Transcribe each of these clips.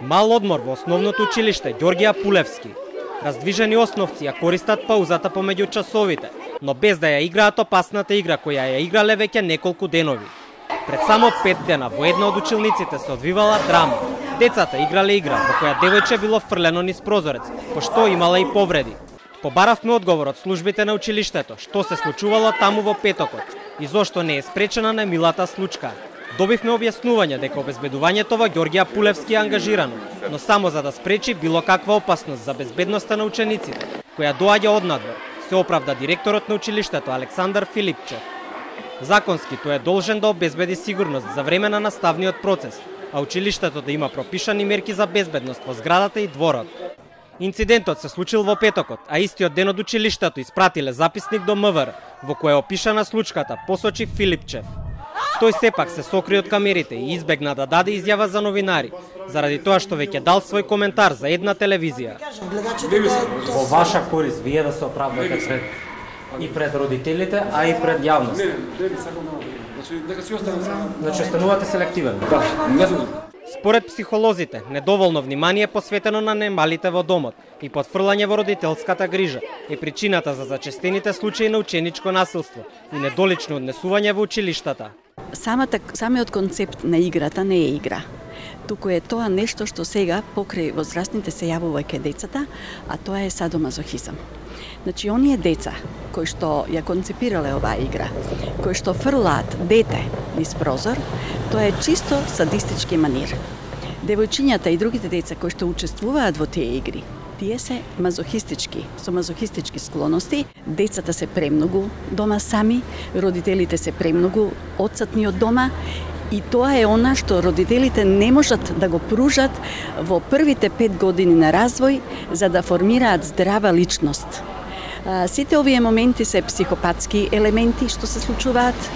Мал одмор во основното училиште Ѓорѓе Апулевски. Раздвижени основци ја користат паузата помеѓу часовите, но без да ја играат опасната игра која ја играле веќе неколку денови. Пред само 5 дена во една од училниците се одвивала драма. Децата играле игра во која девојче било фрлено низ прозорец, пошто имала и повреди. Побаравме одговор од службите на училиштето што се случувало таму во петокот и зошто не е спречена немилата случка. Добивме објаснување дека обезбедувањето во Ѓорѓе Апулевски е ангажирано, но само за да спречи било каква опасност за безбедноста на учениците, која доаѓа однадвор, се оправда директорот на училиштето Александар Филипчев. Законски тој е должен да обезбеди сигурност за време на наставниот процес, а училиштето да има пропишани мерки за безбедност во зградата и дворот. Инцидентот се случил во петокот, а истиот ден од училиштето испратиле записник до МВР, во кој е опишана случката, посочи Филипчев. Тој сепак се сокри од камерите и избегна да даде изјава за новинари, заради тоа што веќе дал свој коментар за една телевизија. Во ваша корист вие да се оправдате пред родителите, а и пред јавност. Значи останувате селективен. Според психолозите, недоволно внимание посветено на немалите во домот и подфрлање во родителската грижа е причината за зачестените случаи на ученичко насилство и недолично однесување во училиштата. Самиот концепт на играта не е игра. Туку е тоа нешто што сега покрај возрастните се јавува кај децата, а тоа е садомазохизам. Значи, оние деца кои што ја концепирале оваа игра, кои што фрлаат дете низ прозор, тоа е чисто садистички манир. Девојчињата и другите деца кои што учествуваат во тие игри, тие се мазохистички, со мазохистички склоности. Децата се премногу дома сами, родителите се премногу одсатни од дома, и тоа е она што родителите не можат да го пружат во првите 5 години на развој за да формираат здрава личност. Сите овие моменти се психопатски елементи што се случуваат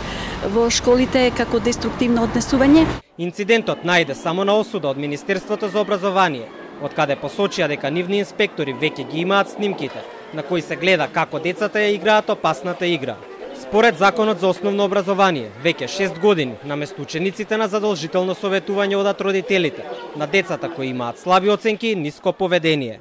во школите како деструктивно однесување. Инцидентот најде само на осуда од Министерството за образование, од каде посочија дека нивни инспектори веќе ги имаат снимките, на кои се гледа како децата ја играат опасната игра. Според Законот за основно образование, веќе 6 години, наместо учениците на задолжително советување одат родителите, на децата кои имаат слаби оценки и ниско поведение.